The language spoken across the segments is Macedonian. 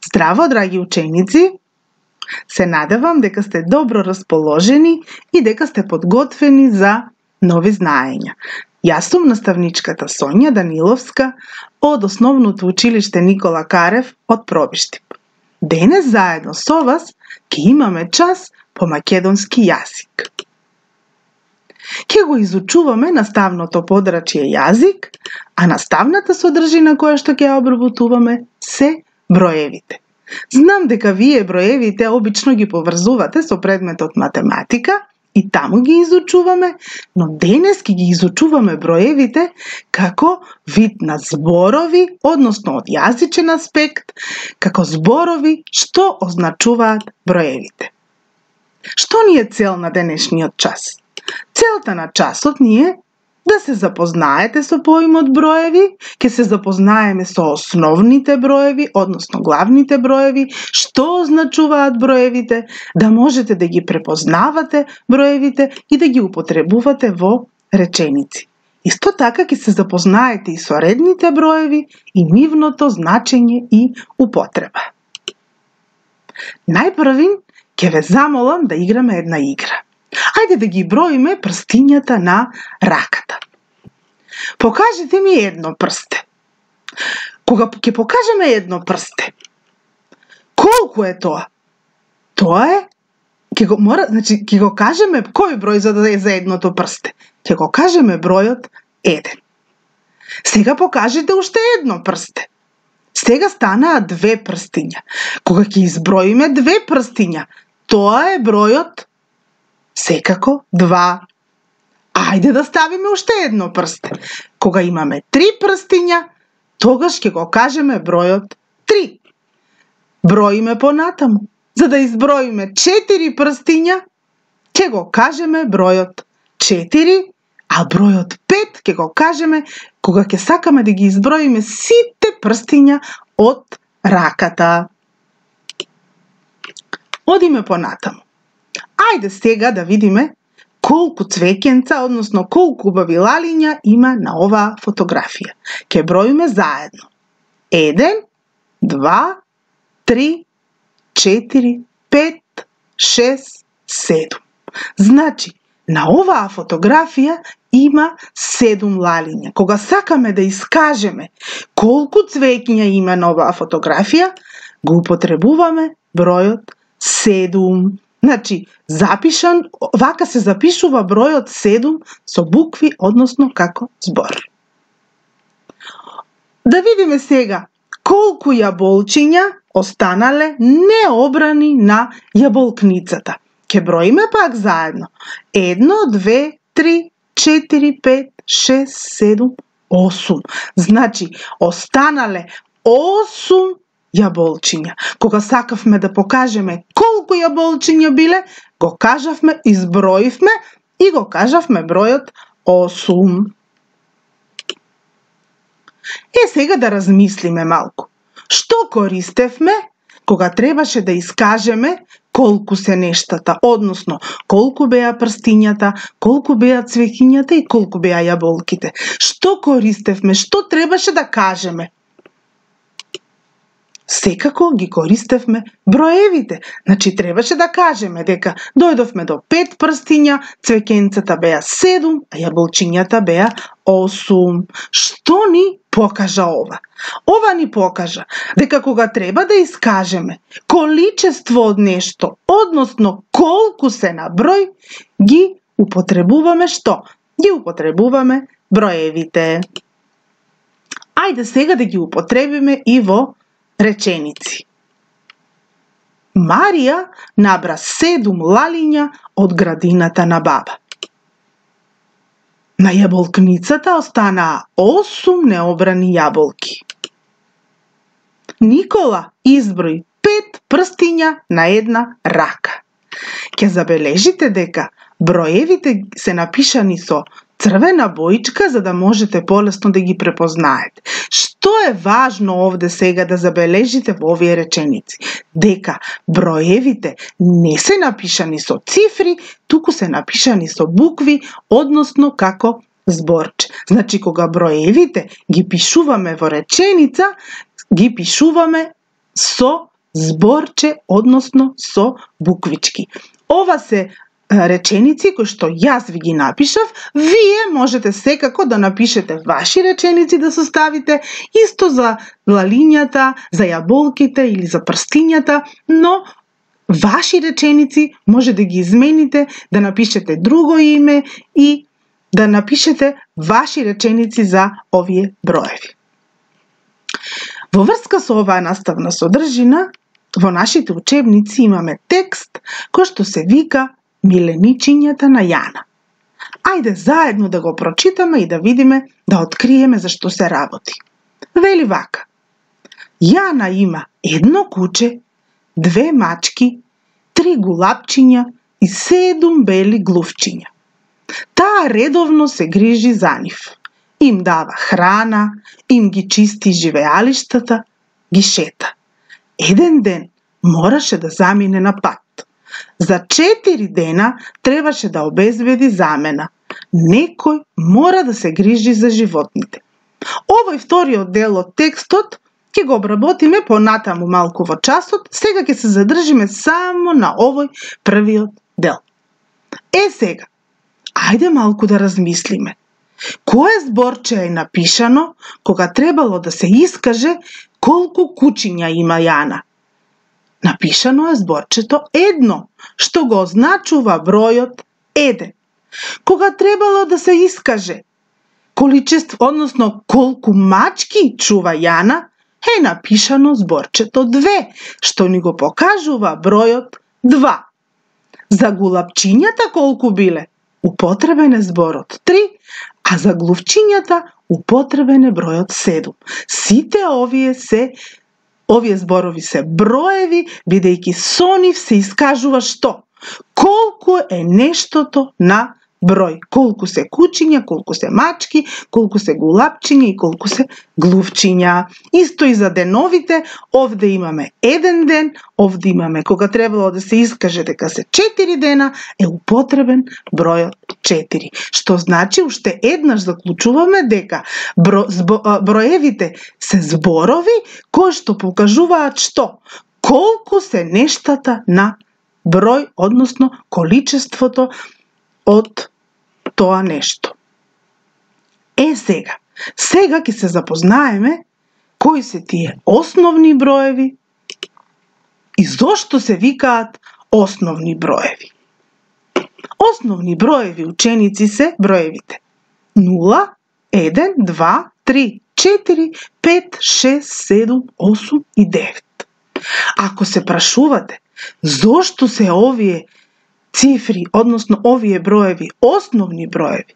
Здраво, драги ученици! Се надевам дека сте добро расположени и дека сте подготвени за нови знаења. Јас сум наставничката Сонја Даниловска од Основното училиште Никола Карев од Пробиштип. Денес заедно со вас ќе имаме час по македонски јазик. Ќе го изучуваме наставното подрачје јазик, а наставната содржина која што ќе ја обработуваме се броевите. Знам дека вие броевите обично ги поврзувате со предметот математика и таму ги изучуваме, но денес ќе ги изучуваме броевите како вид на зборови, односно од јазичен аспект, како зборови што означуваат броевите. Што ни е цел на денешниот час? Целта на часот ни е да се запознаете со поимот броеви, ќе се запознаеме со основните броеви, односно главните броеви, што означуваат броевите, да можете да ги препознавате броевите и да ги употребувате во реченици. Исто така ќе се запознаете и со редните броеви и нивното значење и употреба. Најпрвин ќе ве замолам да играме една игра. Ајде да ги броиме прстињата на раката. Покажете ми едно прсте. Кога ќе покажеме едно прсте, колку е тоа? Тоа е, ќе го кажеме кој број за да е за едното прсте. Ќе го кажеме бројот 1. Сега покажете уште едно прсте. Сега станаа 2 прстиња. Кога ќе изброиме 2 прстиња, тоа е бројот секако 2. Ајде да ставиме уште едно прсте. Кога имаме 3 прстиња, тогаш ќе го кажеме бројот 3. Броиме понатаму. За да изброиме 4 прстиња, ќе го кажеме бројот 4, а бројот 5 ќе го кажеме кога ќе сакаме да ги изброиме сите прстиња од раката. Одиме понатаму. Ајде сега да видиме колку цвеќенца, односно колку убави лалиња има на оваа фотографија. Ќе броиме заедно. 1, 2, 3, 4, 5, 6, 7. Значи, на оваа фотографија има 7 лалиња. Кога сакаме да искажеме колку цвеќиња има на оваа фотографија, го употребуваме бројот 7. Значи, вака се запишува бројот 7 со букви, односно како збор. Да видиме сега колку јаболчиња останале необрани на јаболкницата. Ќе броиме пак заедно. 1, 2, 3, 4, 5, 6, 7, 8. Значи, останале 8 јаболчиња. Кога сакавме да покажеме колку јаболчиња биле, го кажавме, изброивме и го кажавме бројот 8. Сега да размислиме малку. Што користевме кога требаше да искажеме колку се нештата, односно колку беа прстињата, колку беа цвеќињата и колку беа јаболките? Што користевме, што требаше да кажеме? Секако ги користевме броевите. Значи, требаше да кажеме дека дојдовме до 5 прстиња, цвеќенцата беа 7, а јаболчињата беа 8. Што ни покажа ова? Ова ни покажа дека кога треба да искажеме количество од нешто, односно колку се на број, ги употребуваме што? Ги употребуваме броевите. Ајде сега да ги употребиме и во реченици. Марија набра 7 лалиња од градината на баба. На јаболкницата останаа 8 необрани јаболки. Никола изброи 5 прстиња на една рака. Ќе забележите дека броевите се напишани со црвена боичка за да можете полесно да ги препознаете. Што е важно овде сега да забележите во овие реченици? Дека броевите не се напишани со цифри, туку се напишани со букви, односно како зборче. Значи, кога броевите ги пишуваме во реченица, ги пишуваме со зборче, односно со буквички. Ова се реченици кои што јас ви ги напишав, вие можете секако да напишете ваши реченици да составите, исто за лалињата, за јаболките или за прстињата, но ваши реченици може да ги измените, да напишете друго име и да напишете ваши реченици за овие броеви. Во врска со оваа наставна содржина, во нашите учебници имаме текст кој што се вика Миленичињата на Јана. Ајде заедно да го прочитаме и да видиме, да откриеме за што се работи. Вели вака: Јана има едно куче, 2 мачки, 3 гулапчиња и 7 бели глувчиња. Таа редовно се грижи за нив. Им дава храна, им ги чисти живеалиштата, ги шета. Еден ден мораше да замине на пат. За 4 дена требаше да обезбеди замена. Некој мора да се грижи за животните. Овој вториот дел од текстот ќе го обработиме понатаму малку во часот, сега ќе се задржиме само на овој првиот дел. Сега, ајде малку да размислиме. Кое зборче е напишано кога требало да се искаже колку кучиња има Јана? Напишано е зборчето 1, што го означува бројот 1. Кога требало да се искаже количество, односно колку мачки чува Јана, е напишано зборчето 2, што ни го покажува бројот 2. За гулапчињата колку биле? Употребен е зборот 3, а за глувчињата употребен е бројот 7. Сите овие зборови се броеви, бидејќи со нив се искажува што? Колку е нештото на број. Колку се кучиња, колку се мачки, колку се гулапчиња и колку се глувчиња. Исто и за деновите, овде имаме еден ден, овде имаме кога требало да се искаже дека се 4 дена, е употребен бројот 4. Што значи уште еднаш заклучуваме дека броевите се зборови кои што покажуваат што? Колку се нештата на број, односно количеството од тоа нешто. Сега ќе се запознаеме кои се тие основни броеви и зошто се викаат основни броеви. Основни броеви, ученици, се броевите 0, 1, 2, 3, 4, 5, 6, 7, 8 и 9. Ако се прашувате зошто се овие цифри, односно овие броеви, основни броеви,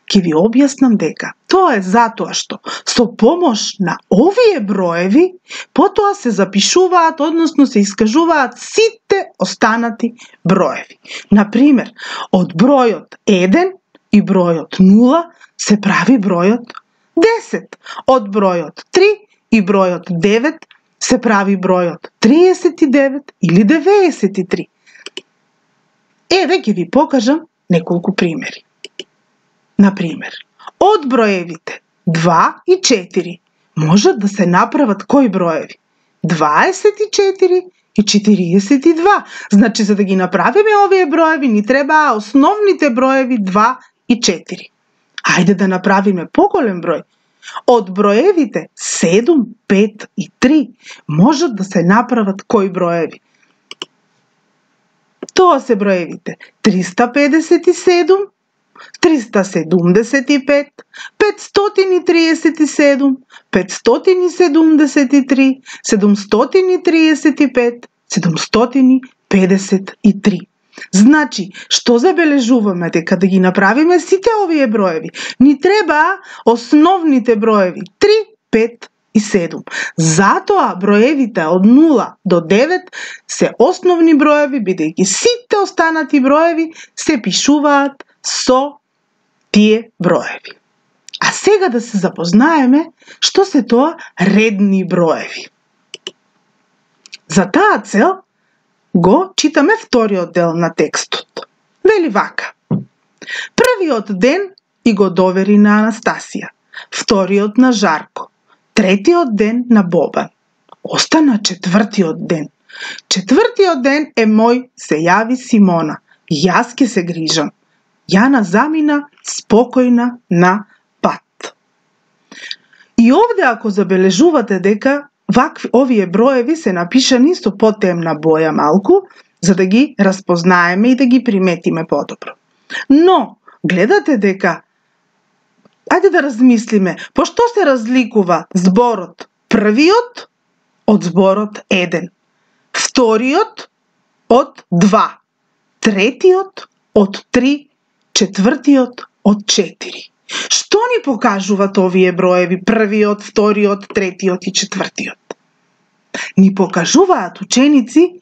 ќе ви објаснам дека тоа е затоа што со помош на овие броеви потоа се запишуваат, односно се искажуваат сите останати броеви. Например, од бројот 1 и бројот 0 се прави бројот 10. Од бројот 3 и бројот 9 се прави бројот 39 или 93. Еве ќе ви покажам неколку примери. Например, од броевите 2 и 4 можат да се направат кои броеви? 24 и 42. Значи, за да ги направиме овие броеви, ни требаа основните броеви 2 и 4. Ајде да направиме поголем број. Од броевите 7, 5 и 3 можат да се направат кои броеви? Тоа се броевите 357, 375, 537, 573, 735, 753. Значи, што забележуваме? Дека да ги направиме сите овие броеви, ни требаа основните броеви 3, 5 и 7. Затоа броевите од 0 до 9 се основни броеви, бидејќи сите останати броеви се пишуваат со тие броеви. А сега да се запознаеме што се тоа редни броеви. За таа цел го читаме вториот дел на текстот. Вели вака: првиот ден и го довери на Анастасија, вториот на Жарко, третиот ден на Бобан. остана четвртиот ден. Четвртиот ден е мој, се јави Симона. Јас ќе се грижам. Јана замина спокојна на пат. И овде ако забележувате дека овие броеви се напишани со потемна боја малку, за да ги распознаеме и да ги приметиме подобро. Но, гледате дека, ајде да размислиме, по што се разликува зборот првиот од зборот еден, вториот од два, третиот од три, четвртиот од четири. Што ни покажуваат овие броеви, првиот, вториот, третиот и четвртиот? Ни покажуваат, ученици,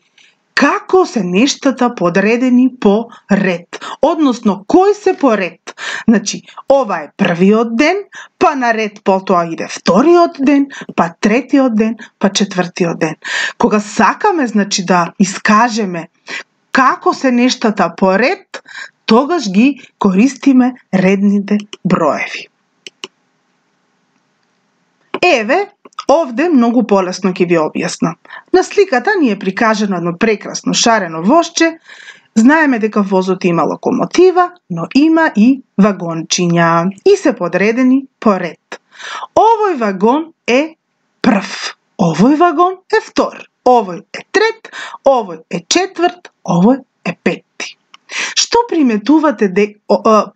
како се нештата подредени по ред, односно кој се по ред. Значи, ова е првиот ден, па наред потоа иде вториот ден, па третиот ден, па четвртиот ден. Кога сакаме, значи, да искажеме како се нештата по ред, тогаш ги користиме редните броеви. Еве, овде многу полесно ќе ви објаснам. На сликата ни е прикажано едно прекрасно шарено возче. Знаеме дека возот има локомотива, но има и вагончиња и се подредени по ред. Овој вагон е прв, овој вагон е втор, овој е трет, овој е четврт, овој е петти. Што приметувате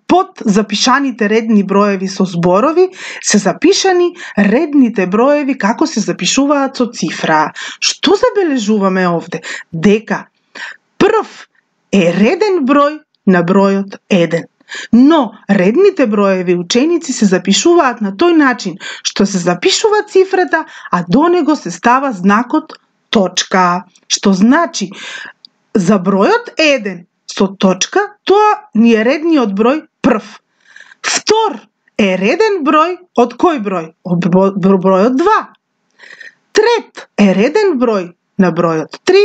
под запишаните редни броеви со зборови се запишани редните броеви како се запишуваат со цифра? Што забележуваме овде? Дека прв е реден број на бројот 1. Но редните броеви, ученици, се запишуваат на тој начин што се запишува цифрата, а до него се става знакот точка. Што значи за бројот 1 со точка, тоа ни е редниот број прв. Втор е реден број од кој број? Од бројот 2. Трет е реден број на бројот 3.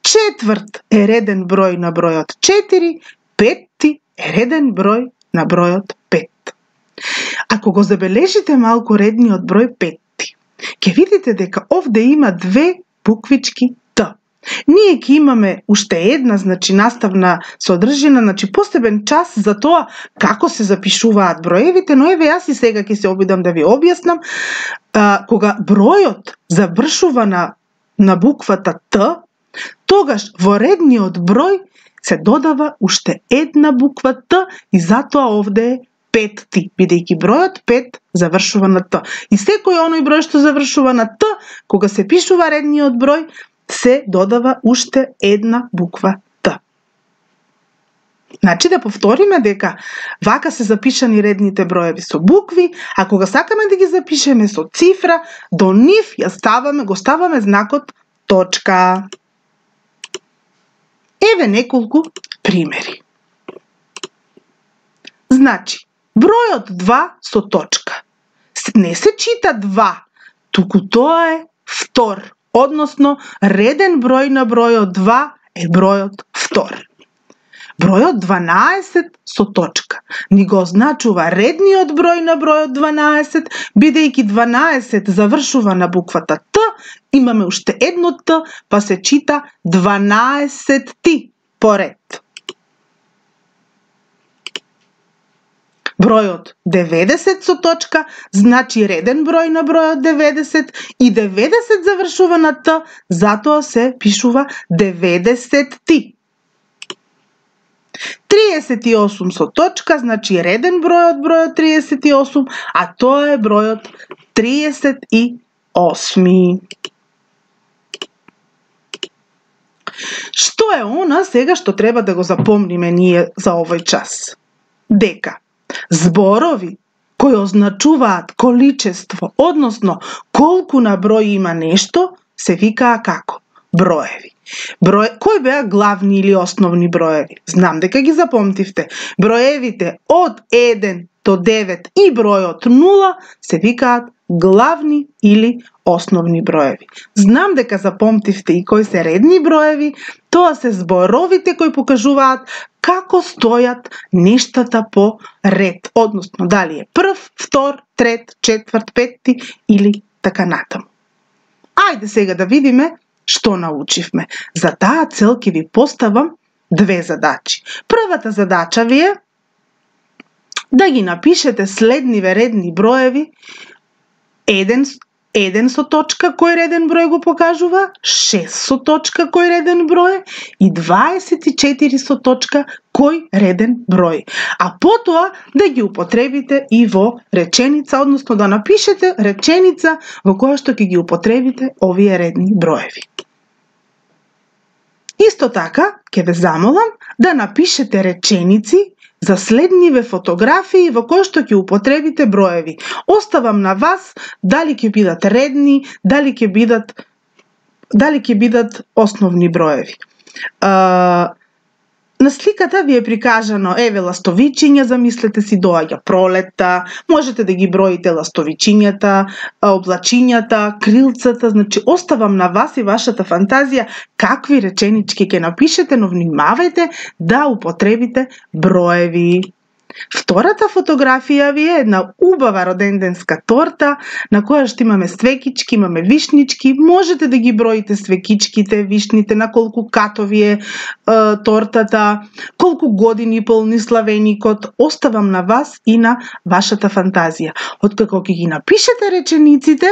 Четврт е реден број на бројот 4. Петти е реден број на бројот 5. Ако го забележите малку редниот број 5, ќе видите дека овде има две буквички Т. Ние ќе имаме уште една, значи наставна содржина, значи посебен час за тоа како се запишуваат броевите, но еве јас и сега ќе се обидам да ви објаснам. Кога бројот завршува на буквата Т, тогаш во редниот број се додава уште една буква Т и затоа овде е петти, бидејќи бројот 5 завршува на Т. И секој оној број што завршува на Т, кога се пишува редниот број, се додава уште една буква Т. Значи да повториме дека вака се запишани редните броеви со букви, а кога сакаме да ги запишеме со цифра, до нив го ставаме знакот точка. Еве неколку примери. Значи, бројот 2 со точка. Не се чита 2, туку тоа е втор, односно реден број на бројот 2 е бројот втор. Бројот 12 со точка ни го означува редниот број на бројот 12, бидејќи 12 завршува на буквата Т, имаме уште едно Т, па се чита 12 поред. Бројот 90 со точка значи реден број на бројот 90 и 90 завршува на Т, затоа се пишува 90. 38 со точка значи реден број од бројот 38, а тоа е бројот 38. Што е она сега што треба да го запомниме ние за овој час? Дека зборови кои означуваат количество, односно колку на број има нешто, се викаа како? Броеви. Кои беа главни или основни броеви? Знам дека ги запомтивте. Броевите од 1 до 9 и бројот 0 се викаат главни или основни броеви. Знам дека запомтивте и кои се редни броеви, тоа се зборовите кои покажуваат како стојат нештата по ред, односно дали е прв, втор, трет, четврт, петти или така натаму. Ајде сега да видиме што научивме. За таа цел ќе ви поставам 2 задачи. Првата задача ви е да ги напишете следниве редни броеви, 1 со точка кој реден број го покажува, 6 со точка кој реден број и 24 со точка кој реден број. А потоа да ги употребите и во реченица, односно да напишете реченица во која што ќе ги употребите овие редни броеви. Исто така, ќе ве замолам да напишете реченици за следниве фотографии во кои што ќе употребите броеви. Оставам на вас дали ќе бидат редни, дали ќе бидат основни броеви. На сликата ви е прикажано, еве, ластовичиња, замислете си, доаѓа пролетта, можете да ги броите ластовичињата, облачињата, крилцата, значи оставам на вас и вашата фантазија какви реченички ќе напишете, но внимавајте да употребите броеви. Втората фотографија ви е една убава роденденска торта на која што имаме свекички, имаме вишнички, можете да ги броите свекичките, вишните, на колку катови е тортата, колку години полни славеникот, оставам на вас и на вашата фантазија. Откако ќе ги напишете речениците,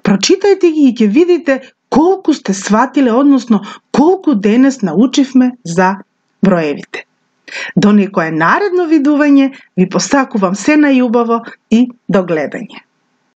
прочитајте ги и ќе видите колку сте сватиле, односно колку денес научивме за броевите. До некое наредно видување ви посакувам се најубаво и до гледање.